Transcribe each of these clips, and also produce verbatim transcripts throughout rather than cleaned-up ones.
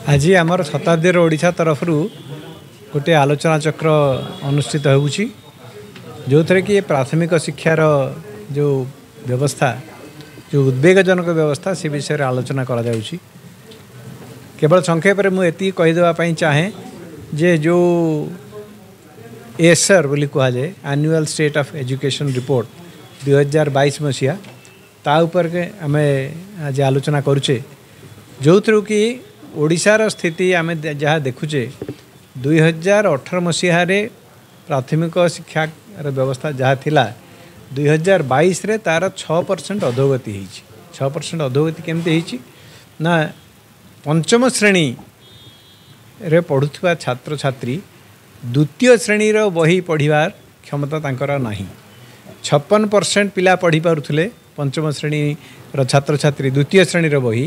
ଆଜି ଆମର ଶତାବ୍ଦୀର ଓଡ଼ିଶା ତରଫରୁ ଗୋଟିଏ ଆଲୋଚନା ଚକ୍ର ଅନୁଷ୍ଠିତ ହେଉଛି, ଯେଉଁଥିରେ କି ପ୍ରାଥମିକ ଶିକ୍ଷାର ଯେଉଁ ବ୍ୟବସ୍ଥା, ଯେଉଁ ଉଦ୍ବେଗଜନକ ବ୍ୟବସ୍ଥା, ସେ ବିଷୟରେ ଆଲୋଚନା କରାଯାଉଛି। କେବଳ ସଂକ୍ଷେପରେ ମୁଁ ଏତିକି କହିଦେବା ପାଇଁ ଚାହେଁ ଯେ ଯେଉଁ ଏସର୍ ବୋଲି କୁହାଯାଏ, annual state of education report ଦୁଇହଜାର ବାଇଶ ମସିହା, ତା ଉପରେ ଆମେ ଆଜି ଆଲୋଚନା କରୁଛେ, ଯେଉଁଥିରୁ କି ଓଡ଼ିଶାର ସ୍ଥିତି ଆମେ ଯାହା ଦେଖୁଛେ, ଦୁଇହଜାର ଅଠର ମସିହାରେ ପ୍ରାଥମିକ ଶିକ୍ଷାର ବ୍ୟବସ୍ଥା ଯାହା ଥିଲା, ଦୁଇହଜାର ବାଇଶରେ ତା'ର ଛଅ ପରସେଣ୍ଟ ଅଧୋଗତି ହେଇଛି। ଛଅ ପରସେଣ୍ଟ ଅଧୋଗତି କେମିତି ହେଇଛି ନା, ପଞ୍ଚମ ଶ୍ରେଣୀରେ ପଢ଼ୁଥିବା ଛାତ୍ରଛାତ୍ରୀ ଦ୍ୱିତୀୟ ଶ୍ରେଣୀର ବହି ପଢ଼ିବାର କ୍ଷମତା ତାଙ୍କର ନାହିଁ। ଛପନ ପରସେଣ୍ଟ ପିଲା ପଢ଼ିପାରୁଥିଲେ ପଞ୍ଚମ ଶ୍ରେଣୀର ଛାତ୍ରଛାତ୍ରୀ ଦ୍ୱିତୀୟ ଶ୍ରେଣୀର ବହି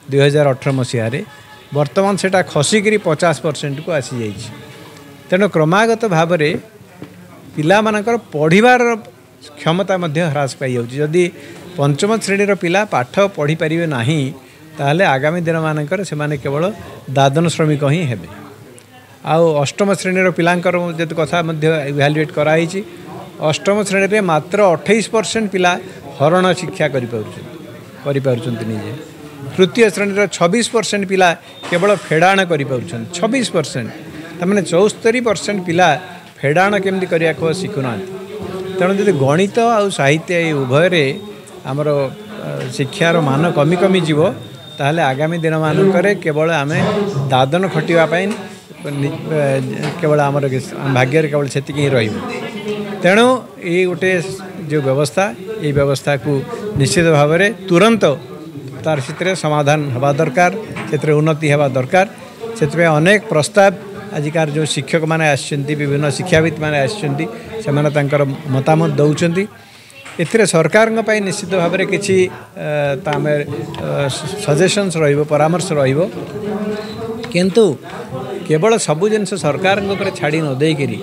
ଦୁଇହଜାର ଅଠର ମସିହାରେ, ବର୍ତ୍ତମାନ ସେଇଟା ଖସିକିରି ପଚାଶ ପରସେଣ୍ଟକୁ ଆସିଯାଇଛି। ତେଣୁ କ୍ରମାଗତ ଭାବରେ ପିଲାମାନଙ୍କର ପଢ଼ିବାର କ୍ଷମତା ମଧ୍ୟ ହ୍ରାସ ପାଇଯାଉଛି। ଯଦି ପଞ୍ଚମ ଶ୍ରେଣୀର ପିଲା ପାଠ ପଢ଼ିପାରିବେ ନାହିଁ, ତାହେଲେ ଆଗାମୀ ଦିନମାନଙ୍କରେ ସେମାନେ କେବଳ ଦାଦନ ଶ୍ରମିକ ହିଁ ହେବେ। ଆଉ ଅଷ୍ଟମ ଶ୍ରେଣୀର ପିଲାଙ୍କର ଯଦି କଥା ମଧ୍ୟ ଇଭାଲୁଏଟ୍ କରାହେଇଛି, ଅଷ୍ଟମ ଶ୍ରେଣୀରେ ମାତ୍ର ଅଠେଇଶ ପରସେଣ୍ଟ ପିଲା ହରଣ ଶିକ୍ଷା କରିପାରୁଛନ୍ତି କରିପାରୁଛନ୍ତି ନିଜେ। ତୃତୀୟ ଶ୍ରେଣୀର ଛବିଶ ପରସେଣ୍ଟ ପିଲା କେବଳ ଫେଡ଼ାଣ କରିପାରୁଛନ୍ତି, ଛବିଶ ପରସେଣ୍ଟ। ତାମାନେ ଚଉସ୍ତରୀ ପରସେଣ୍ଟ ପିଲା ଫେଡ଼ାଣ କେମିତି କରିବାକୁ ଶିଖୁନାହାନ୍ତି। ତେଣୁ ଯଦି ଗଣିତ ଆଉ ସାହିତ୍ୟ ଏ ଉଭୟରେ ଆମର ଶିକ୍ଷାର ମାନ କମି କମି ଯିବ, ତାହେଲେ ଆଗାମୀ ଦିନମାନଙ୍କରେ କେବଳ ଆମେ ଦାଦନ ଖଟିବା ପାଇଁ କେବଳ ଆମର ଭାଗ୍ୟରେ କେବଳ ସେତିକି ହିଁ ରହିବ। ତେଣୁ ଏଇ ଗୋଟେ ଯେଉଁ ବ୍ୟବସ୍ଥା, ଏଇ ବ୍ୟବସ୍ଥାକୁ ନିଶ୍ଚିତ ଭାବରେ ତୁରନ୍ତ ତାର ସେଥିରେ ସମାଧାନ ହେବା ଦରକାର, ସେଥିରେ ଉନ୍ନତି ହେବା ଦରକାର। ସେଥିପାଇଁ ଅନେକ ପ୍ରସ୍ତାବ ଆଜିକାର ଯେଉଁ ଶିକ୍ଷକମାନେ ଆସିଛନ୍ତି, ବିଭିନ୍ନ ଶିକ୍ଷାବିତ୍ମାନେ ଆସିଛନ୍ତି, ସେମାନେ ତାଙ୍କର ମତାମତ ଦେଉଛନ୍ତି। ଏଥିରେ ସରକାରଙ୍କ ପାଇଁ ନିଶ୍ଚିତ ଭାବରେ କିଛି ତା ଆମେ ସଜେସନ୍ସ ରହିବ, ପରାମର୍ଶ ରହିବ। କିନ୍ତୁ କେବଳ ସବୁ ଜିନିଷ ସରକାରଙ୍କ ଉପରେ ଛାଡ଼ି ନ ଦେଇକରି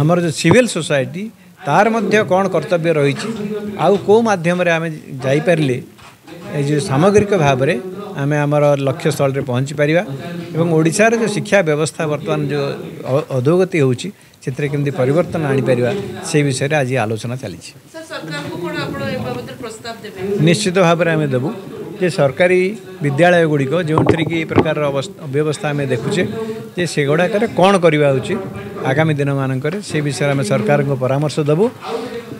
ଆମର ଯେଉଁ ସିଭିଲ୍ ସୋସାଇଟି, ତାର ମଧ୍ୟ କ'ଣ କର୍ତ୍ତବ୍ୟ ରହିଛି, ଆଉ କେଉଁ ମାଧ୍ୟମରେ ଆମେ ଯାଇପାରିଲେ ଏ ଯେଉଁ ସାମଗ୍ରିକ ଭାବରେ ଆମେ ଆମର ଲକ୍ଷ୍ୟସ୍ଥଳରେ ପହଞ୍ଚି ପାରିବା ଏବଂ ଓଡ଼ିଶାର ଯେଉଁ ଶିକ୍ଷା ବ୍ୟବସ୍ଥା ବର୍ତ୍ତମାନ ଯେଉଁ ଅଧୋଗତି ହେଉଛି, ସେଥିରେ କେମିତି ପରିବର୍ତ୍ତନ ଆଣିପାରିବା, ସେଇ ବିଷୟରେ ଆଜି ଆଲୋଚନା ଚାଲିଛି। ନିଶ୍ଚିତ ଭାବରେ ଆମେ ଦେବୁ ଯେ ସରକାରୀ ବିଦ୍ୟାଳୟ ଗୁଡ଼ିକ ଯେଉଁଥିରେ କି ଏ ପ୍ରକାରର ଅବ୍ୟବସ୍ଥା ଆମେ ଦେଖୁଛେ, ଯେ ସେଗୁଡ଼ାକରେ କ'ଣ କରିବା ଉଚିତ ଆଗାମୀ ଦିନମାନଙ୍କରେ, ସେ ବିଷୟରେ ଆମେ ସରକାରଙ୍କୁ ପରାମର୍ଶ ଦେବୁ।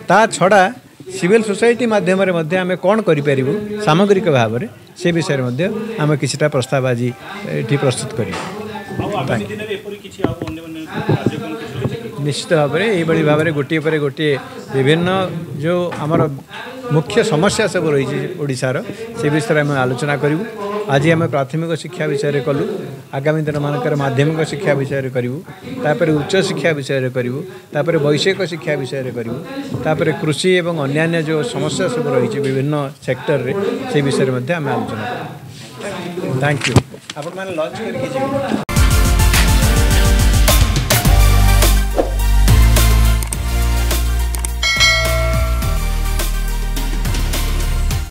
ତା ଛଡ଼ା ସିଭିଲ୍ ସୋସାଇଟି ମାଧ୍ୟମରେ ମଧ୍ୟ ଆମେ କ'ଣ କରିପାରିବୁ ସାମଗ୍ରିକ ଭାବରେ, ସେ ବିଷୟରେ ମଧ୍ୟ ଆମେ କିଛିଟା ପ୍ରସ୍ତାବ ଆଜି ଏଠି ପ୍ରସ୍ତୁତ କରିବୁ। ନିଶ୍ଚିତ ଭାବରେ ଏଇଭଳି ଭାବରେ ଗୋଟିଏ ପରେ ଗୋଟିଏ ବିଭିନ୍ନ ଯେଉଁ ଆମର ମୁଖ୍ୟ ସମସ୍ୟା ସବୁ ରହିଛି ଓଡ଼ିଶାର, ସେ ବିଷୟରେ ଆମେ ଆଲୋଚନା କରିବୁ। ଆଜି ଆମେ ପ୍ରାଥମିକ ଶିକ୍ଷା ବିଷୟରେ କଲୁ, ଆଗାମୀ ଦିନମାନଙ୍କରେ ମାଧ୍ୟମିକ ଶିକ୍ଷା ବିଷୟରେ କରିବୁ, ତାପରେ ଉଚ୍ଚ ଶିକ୍ଷା ବିଷୟରେ କରିବୁ, ତାପରେ ବୈଷୟିକ ଶିକ୍ଷା ବିଷୟରେ କରିବୁ, ତାପରେ କୃଷି ଏବଂ ଅନ୍ୟାନ୍ୟ ଯେଉଁ ସମସ୍ୟା ସବୁ ରହିଛି ବିଭିନ୍ନ ସେକ୍ଟରରେ, ସେ ବିଷୟରେ ମଧ୍ୟ ଆମେ ଆଲୋଚନା କରିବୁ। Thank you. ଆପଣମାନେ ଲଞ୍ଚ କରିକି ଯିବେ।